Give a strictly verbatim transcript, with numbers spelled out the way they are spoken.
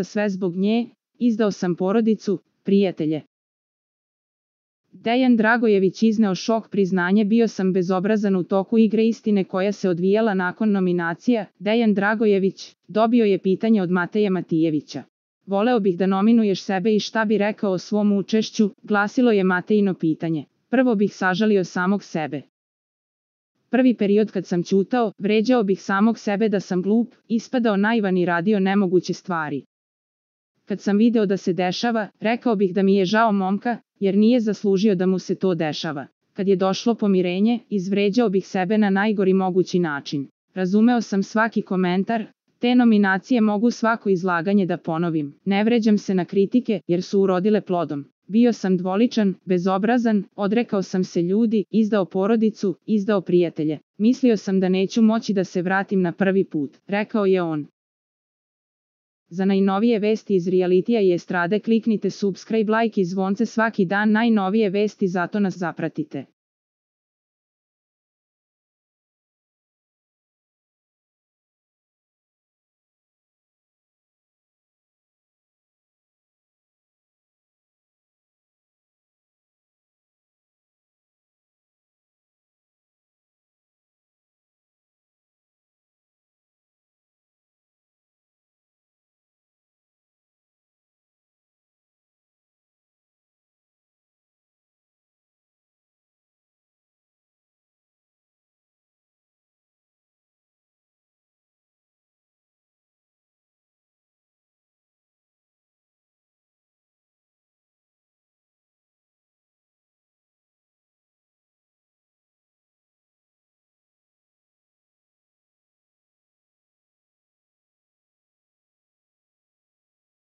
sve zbog nje, izdao sam porodicu, prijatelje. Dejan Dragojević izneo šok priznanje bio sam bezobrazan u toku igre istine koja se odvijala nakon nominacija. Dejan Dragojević dobio je pitanje od Mateje Matijevića. Voleo bih da nominuješ sebe i šta bi rekao o svom učešću, glasilo je Matejino pitanje. Prvo bih sažalio samog sebe. Prvi period kad sam ćutao, vređao bih samog sebe da sam glup, ispadao naivan i radio nemoguće stvari. Kad sam video da se dešava, rekao bih da mi je žao momka, jer nije zaslužio da mu se to dešava. Kad je došlo pomirenje, izvređao bih sebe na najgori mogući način. Razumeo sam svaki komentar, te nominacije mogu svako izlaganje da ponovim. Ne vređam se na kritike, jer su urodile plodom. Bio sam dvoličan, bezobrazan, odrekao sam se ljudi, izdao porodicu, izdao prijatelje. Mislio sam da neću moći da se vratim na prvi put, rekao je on. Za najnovije vesti iz realitija i estrade kliknite subscribe, like i zvonce svaki dan, najnovije vesti, zato nas zapratite.